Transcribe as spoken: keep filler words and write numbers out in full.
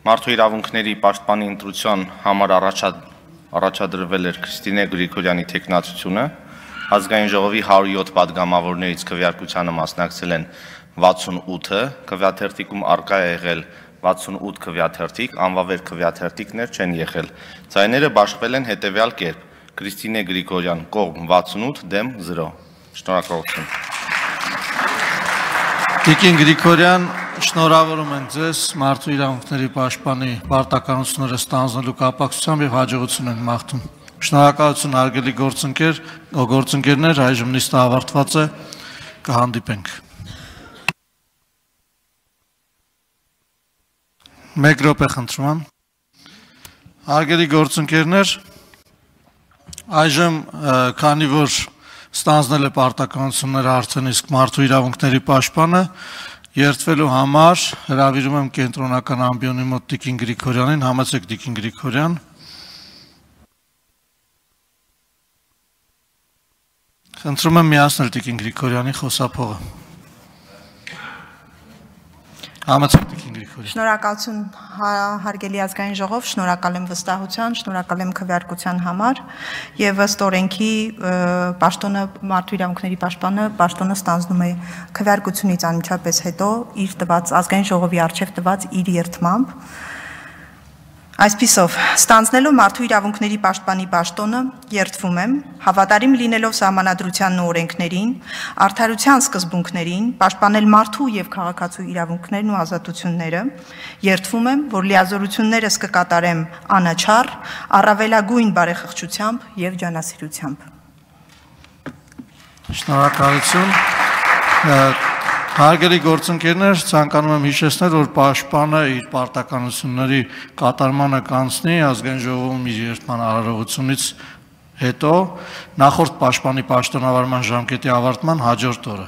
Մարդու իրավունքների պաշտպանի ընտրության համար առաջադրվել էր Քրիստինե Գրիգորյանի թեկնածությունը, ազգային ժողովի հարյուր յոթ պատգամավորներից քվեարկությանը մասնակցել են վաթսունութը, քվեաթերթիկում առկա է եղել վաթսունութ քվեաթերթիկ, անվավեր քվեաթերթիկներ չեն եղել։ Ձայները բաշխվել են հետևյալ կերպ. Քրիստինե Գրիգորյան կողմ վաթսունութ, դեմ զրո։ Շնորհակալություն։ Տիկին Գրիգորյան, շնորհավորում ենք ձեզ մարդու իրավունքների պաշտպանի պարտականությունները ստանձնելու կապակցությամբ եւ հաջողություն ենք մաղթում։ Շնորհակալություն հարգելի գործընկեր, գործընկերներ, այժմ նիստը ավարտված է, կհանդիպենք։ Մեկ րոպե խնդրում եմ։ Հարգելի գործընկերներ, այժմ քանի որ ստանձնել է պարտականությունները արդեն իսկ մարդու իրավունքների պաշտպանը, երդվելու համար հրավիրում եմ կենտրոնական ամբիոնի մոտ Տիկին Գրիգորյանին, համեցեք Տիկին Գրիգորյան։ Խնդրում եմ միացնել Տիկին Գրիգորյանի խոսափողը։ Համեցեք Տիկին Գրիգորյան։ Շնորհակալություն հարգելի ազգային ժողով, շնորհակալ եմ վստահության, շնորհակալ եմ քվեարկության համար եւ ըստ օրենքի պաշտոնը մարդու իրավունքների պաշտպանը պաշտոնը ստանձնում է քվեարկությունից անմիջապես հետո իր տված ազգային ժողովի արչեւ տված իր երդմամբ։ Այսպիսով, ստանձնելով մարդու իրավունքների պաշտպանի պաշտոնը, երդվում եմ, հավատարիմ լինելով սահմանադրությանն ու օրենքներին, արդարության սկզբունքներին, պաշտպանել մարդու եւ քաղաքացու իրավունքներն ու ազատությունները, երդվում եմ, որ լիազորություններս կկատարեմ անաչառ, առավելագույն բարեխղճությամբ եւ ջանասիրությամբ։ Շնորհակալություն։ Հարգելի գործընկերներ, ցանկանում եմ հիշեցնել, որ պաշտպանը իր պարտականությունների կատարմանը կանցնի ազգային ժողովում իր երդման արարողությունից հետո նախորդ պաշտպանի պաշտոնավարման ժամկետի ավարտման հաջորդ օրը։